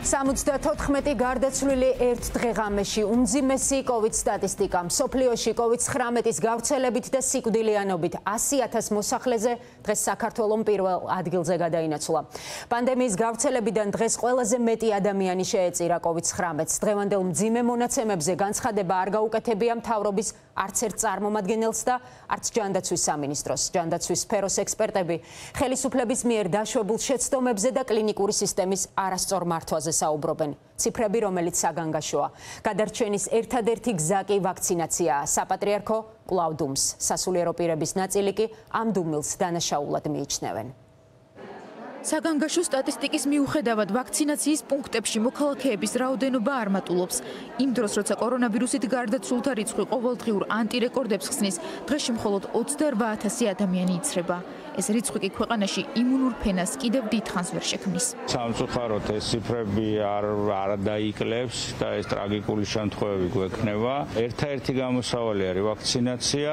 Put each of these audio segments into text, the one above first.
74 გარდაცვლილი ერთ დღეღამეში უმძიმესი COVID სტატისტიკა. მსოფლიოში COVID-19-ის გავრცელებით და სიკვდილიანობით 100,000 მოსახლეზე დღეს საქართველოს პირველ ადგილზე გადაინაცვლა. პანდემიის გავრცელებიდან დღეს ყველაზე მეტი ადამიანი შეეწირა COVID-19-ს. დღევანდელ მძიმე მონაცემებზე განცხადება არ გაუკეთებია მთავრობის არც ერთ წარმომადგენელს და არც ჯანდაცვის სამინისტროს. ჯანდაცვის სფეროს ექსპერტები ხელისუფლების მიერ დაშვებულ შეცდომებზე და კლინიკური სისტემის არასწორ მართვაზე საუბრობენ. ციფრები, რომელიც საგანგაშოა. გადარჩენის ერთადერთი გზა კი ვაქცინაციაა. საპატრიარქო კვლავ დუმს. სასულიერო პირების ნაწილი კი ამ დუმილს დანაშაულად მიიჩნევენ. საგანგაშო სტატისტიკის მიუხედავად ვაქცინაციის პუნქტებში მოქალაქეების რაოდენობა არ მატულობს. იმ დროს, როცა კორონავირუსით გარდაცვლულთა რიცხვი ყოველდღიურ ანტირეკორდებს ხსნის, დღეში მხოლოდ 28,000 ადამიანი იცრება. ეს რიცხვი კი ქვეყანაში იმუნურ ფენას კიდევ დიდხანს ვერ შექმნის. სამწუხაროდ ეს ციფრები არ დაიკლებს და ეს ტრაგიკული შემთხვევები გვექნება. ერთადერთი გამოსავალი არის ვაქცინაცია,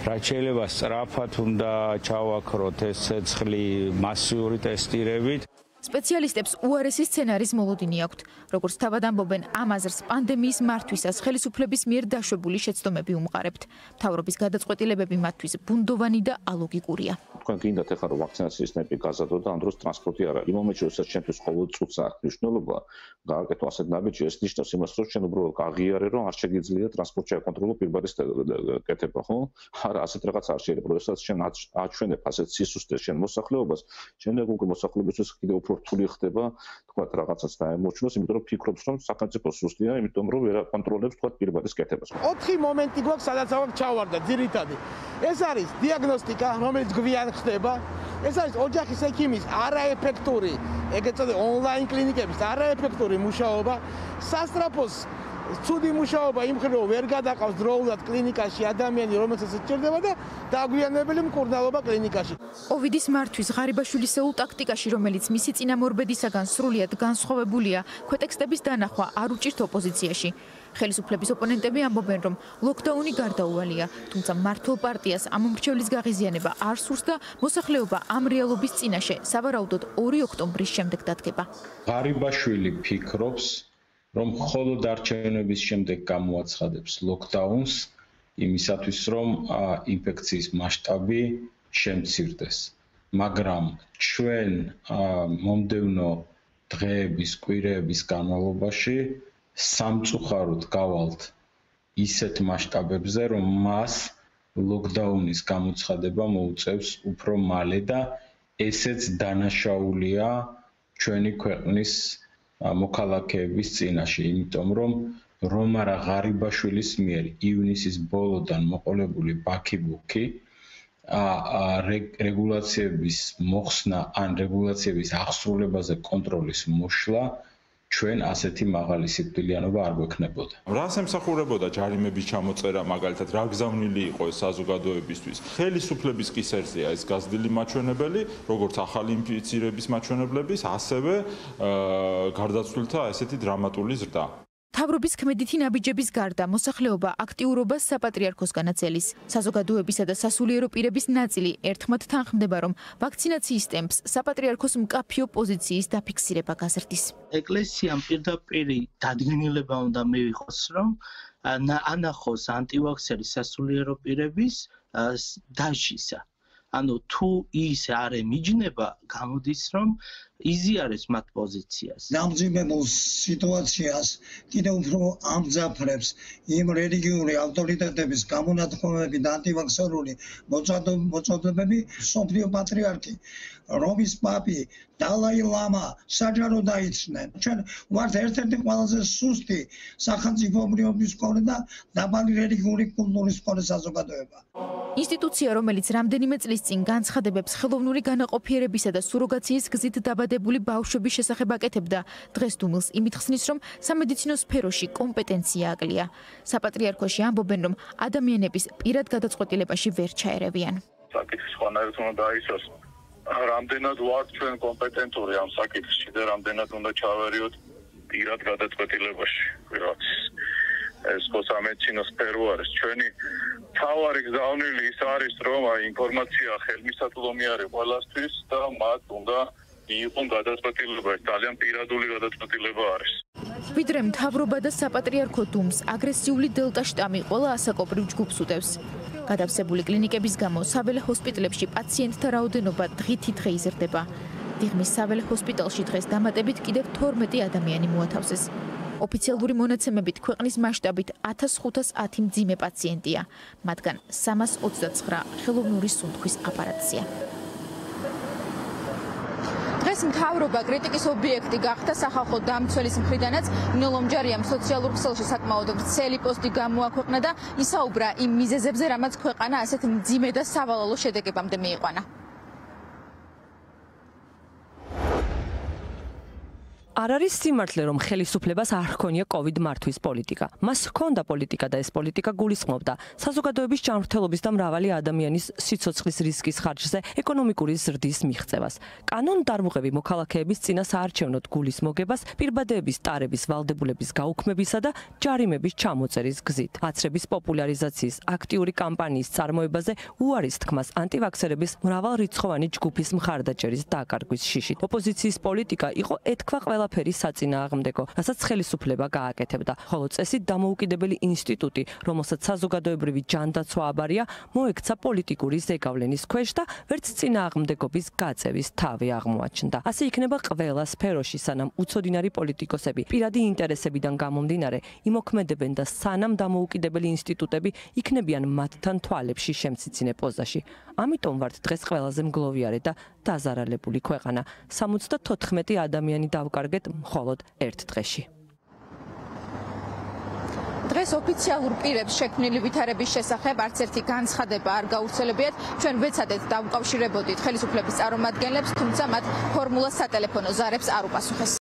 რაც შეიძლება სწრაფად უნდა ჩავაქროთ ეს ცეცხლი მასიური ტესტირებით. სპეციალისტებს უარესი სცენარის მოლოდინი აქვთ. როგორც თავად ამბობენ, ამ აზრს პანდემიის მართვისას ხელისუფლების მიერ დაშვებული შეცდომები უმყარებთ. მთავრობის გადაწყვეტილებები მათთვის ბუნდოვანი და ალოგიკურია. თქვენ გინდათ ახლა რომ ვაქცინაციის ტემპი გაზარდოთ და ამ დროს ტრანსპორტი არ არის. იმ მომენტში, როდესაც ჩვენთვის ყოველ წუთს აქვს მნიშვნელობა, გააკეთო ასეთ ნაბიჯი, ეს ნიშნავს იმას, რომ ჩვენ უბრალოდ გაღიარე, რომ არ შეგიძლია ტრანსპორტში აკონტროლო პირბადის კეთება, ხო? არა, ასეთ რაღაც არ შეიძლება. როდესაც ჩვენ აჩვენებ ასეთ სისუსტეს ჩვენ მოსახლეობას, შემდეგ უკვე მოსახლეობისთვის კიდევ უფრო რთული ხდება, თქვათ, რაღაცას დაემორჩილოს, იმიტომ რომ ფიქრობს, რომ სახელმწიფო სუსტია, იმიტომ რომ ვერ აკონტროლებს, თქვათ, პირბადის კეთებას. 4 მომენტი გვაქვს, სადაც აქ ჩავარდა ძირითადი. ეს არის დიაგნოსტიკა, რომელიც გვიან ხდება. ეს არის ოჯახის ექიმის არაეფექტური, ეგეც წოდე ონლაინ კლინიკების არაეფექტური მუშაობა. სასწრაფოს ცუდი მუშაობა იმ მხრივ ვერ გადაყავს დროულად კლინიკაში ადამიანი, რომელსაც სჭირდება და დაგვიანებელი მკურნალობა კლინიკაში. COVID-ის მართვის ღარიბაშვილისეულ ტაქტიკაში, რომელიც მისი წინამორბედისაგან სრულიად განსხვავებულია, ქვეტექსტების დანახვა არ უჭირთ ოპოზიციაში. ხელისუფლების ოპონენტები ამბობენ, რომ ლოკდაუნი გარდაუვალია, თუმცა მმართველ პარტიას ამ მომრჩევლის გაღიზიანება არ სურს და მოსახლეობა ამ რეალობის წინაშე სავარაუდოდ 2 ოქტომბრის შემდეგ დადგება. ღარიბაშვილი ფიქრობს, რომ მხოლოდ არჩევნების შემდეგ გამოაცხადებს ლოკდაუნს იმისათვის, რომ ინფექციის მასშტაბი შემცირდეს. მაგრამ ჩვენ მომდევნო დღეების, კვირეების განმავლობაში სამწუხაროდ გავალთ ისეთ მასშტაბებზე, რომ მას ლოკდაუნის გამოცხადება მოუწევს უფრო მალე და ესეც დანაშაულია ჩვენი ქვეყნის მოქალაქეების წინაშე, იმიტომ რომ არა ღარიბაშვილის მიერ ივნისის ბოლოდან მოყოლებული ბაქიბუქი რეგულაციების მოხსნა ან რეგულაციების აღსრულებაზე კონტროლის მოშლა ჩვენ ასეთი მაღალი სიკვდილიანობა არ გვექნებოდა. რას ემსახურებოდა ჯარიმების ჩამოწერა, მაგალითად, რა გზავნილი იყო ეს საზოგადოებისთვის? ხელისუფლების კისერზეა ეს გაზრდილი მაჩვენებელი, როგორც ახალი ინფიცირების მაჩვენებლების, ასევე გარდაცვლილთა ესეთი დრამატული ზრდა. მთავრობის ქმედითი ნაბიჯების გარდა მოსახლეობა აქტიურობას საპატრიარქოსგან აწელის. საზოგადოებისა და სასულიერო პირების ნაწილი ერთხმად თანხმდება, რომ ვაქცინაციის ტემპს საპატრიარქოს მკაფიო პოზიციის დაფიქსირება გაზრდის. ეკლესიამ პირდაპირ დადგენილება უნდა მივიღოს, რომ ანახოს ანტივაქსერი სასულიერო პირების დაშისა. ანუ თუ ის არ ემიჯნება, გამოდის, რომ იზიარებს მათ პოზიციას. დამძიმებულ სიტუაციას კიდევ უფრო ამძაფრებს იმ რელიგიური ავტორიტეტების გამონათქვამები და ანტივაქსერული მოწოდებები, მსოფლიო პატრიარქი, რომის პაპი, დალაი ლამა საჯარო დაიცნენ. ჩვენ ვართ ერთ-ერთი ყველაზე სუსტი სახელმწიფოებრიობის მქონე და დაბალი რელიგიური კულტურის მქონე საზოგადოება. ინსტიტუცია, რომელიც რამდენიმე წლის წინ განცხადებებს ხელოვნური განაყოფიერებისა და სუროგაციის გზით დაბადებული ბავშვების შესახებ აკეთებდა, დღეს დუმილს იმით ხსნის, რომ სამედიცინო სფეროში კომპეტენცია აკლია. საპატრიარქოში ამბობენ, რომ ადამიანების პირად გადაწყვეტილებაში ვერ ჩაერევიან. საკითხი სხვანაირად უნდა დაისვას. რამდენად ვართ ჩვენ კომპეტენტური ამ საკითხში და რამდენად უნდა ჩავერიოთ პირად გადაწყვეტილებაში. ეს ხო სამედიცინო სფერო არის. ჩვენი თავარი გზავნილი ის არის, რომ ინფორმაცია ხელმისაწვდომი არის ყველასთვის და მათ უნდა მიიღონ გადაწყვეტილება. ეს ძალიან პირადული გადაწყვეტილება ვიდრე მთავრობა და საპატრიარქო დუმს აგრესიული დელტა შტამი ყველა ასაკობრივ ჯგუფს უდევს. გადავსებული კლინიკების გამო საველე ჰოსპიტალებში პაციენტთა რაოდენობა დღითი დღე იზრდება. დიღმის საველე ჰოსპიტალში დღეს დამატებით კიდევ 12 ადამიანი მოათავსეს. ოფიციალური მონაცემებით ქვეყნის მასშტაბით 1510 მძიმე პაციენტია, მათგან 329 ხელოვნური სუნთქვის აპარატზეა. დღეს მთავრობა კრიტიკის ობიექტი გახდა სახალხო დამცველის მხრიდანაც ნინო ლომჯარიამ სოციალურ ქსელში საკმაოდ ვრცელი პოსტი გამოაქვეყნა და ისაუბრა იმ მიზეზებზე, რამაც ქვეყანა ასეთ მძიმე და სავალალო შედეგებამდე მიიყვანა. არ არის სიმართლე, რომ ხელისუფლებას არ ჰქონია COVID მართვის პოლიტიკა. მას ჰქონდა პოლიტიკა და ეს პოლიტიკა გულისხმობდა საზოგადოების ჯანმრთელობის და მრავალი ადამიანის სიცოცხლის რისკის ხარჯზე ეკონომიკური ზრდის მიღწევას. კანონდარღვევი მოქალაქეების წინა საარჩევნოდ გულის მოგებას, პირბადეების ტარების ვალდებულების გაუქმებისა და ჯარიმების ჩამოწერის გზით. აცრების პოპულარიზაციის აქტიური კამპანიის წარმოებაზე უარის თქმას ანტივაქსერების მრავალრიცხოვანი ჯგუფის მხარდაჭერის დაკარგვის შიშით. ოპოზიციის პოლიტიკა იყო ეთქვა ყველაფერი საწინააღმდეგო, რასაც ხელისუფლება გააკეთებდა, ხოლო წესით დამოუკიდებელი ინსტიტუტი, რომელსაც საზოგადოებრივი ჯანდაცვა აბარია, მოექცა პოლიტიკური ზეგავლენის ქვეშ და ვერც წინააღმდეგობის გაწევის თავი აღმოაჩნდა. ასე იქნება ყველა სფეროში, სანამ უცოდინარი პოლიტიკოსები პირადი ინტერესებიდან გამომდინარე იმოქმედებენ და სანამ დამოუკიდებელი ინსტიტუტები იქნებიან მათთან თვალებში შემციცინე პოზაში. ამიტომ ვართ დღეს ყველაზე მგლოვიარე და დაზარალებული ქვეყანა. 74 ადამიანი დავკარგეთ მხოლოდ ერთ დღეში. დღეს ოფიციალურ პირებს შექმნილი ვითარების შესახებ არც ერთი განცხადება არ გავრცელებიათ. ჩვენ ვეცადეთ დავუკავშირებოდით ხელისუფლების წარმომადგენლებს, თუმცა მათ ფორმულა სატელეფონო ზარებს არ უპასუხეს.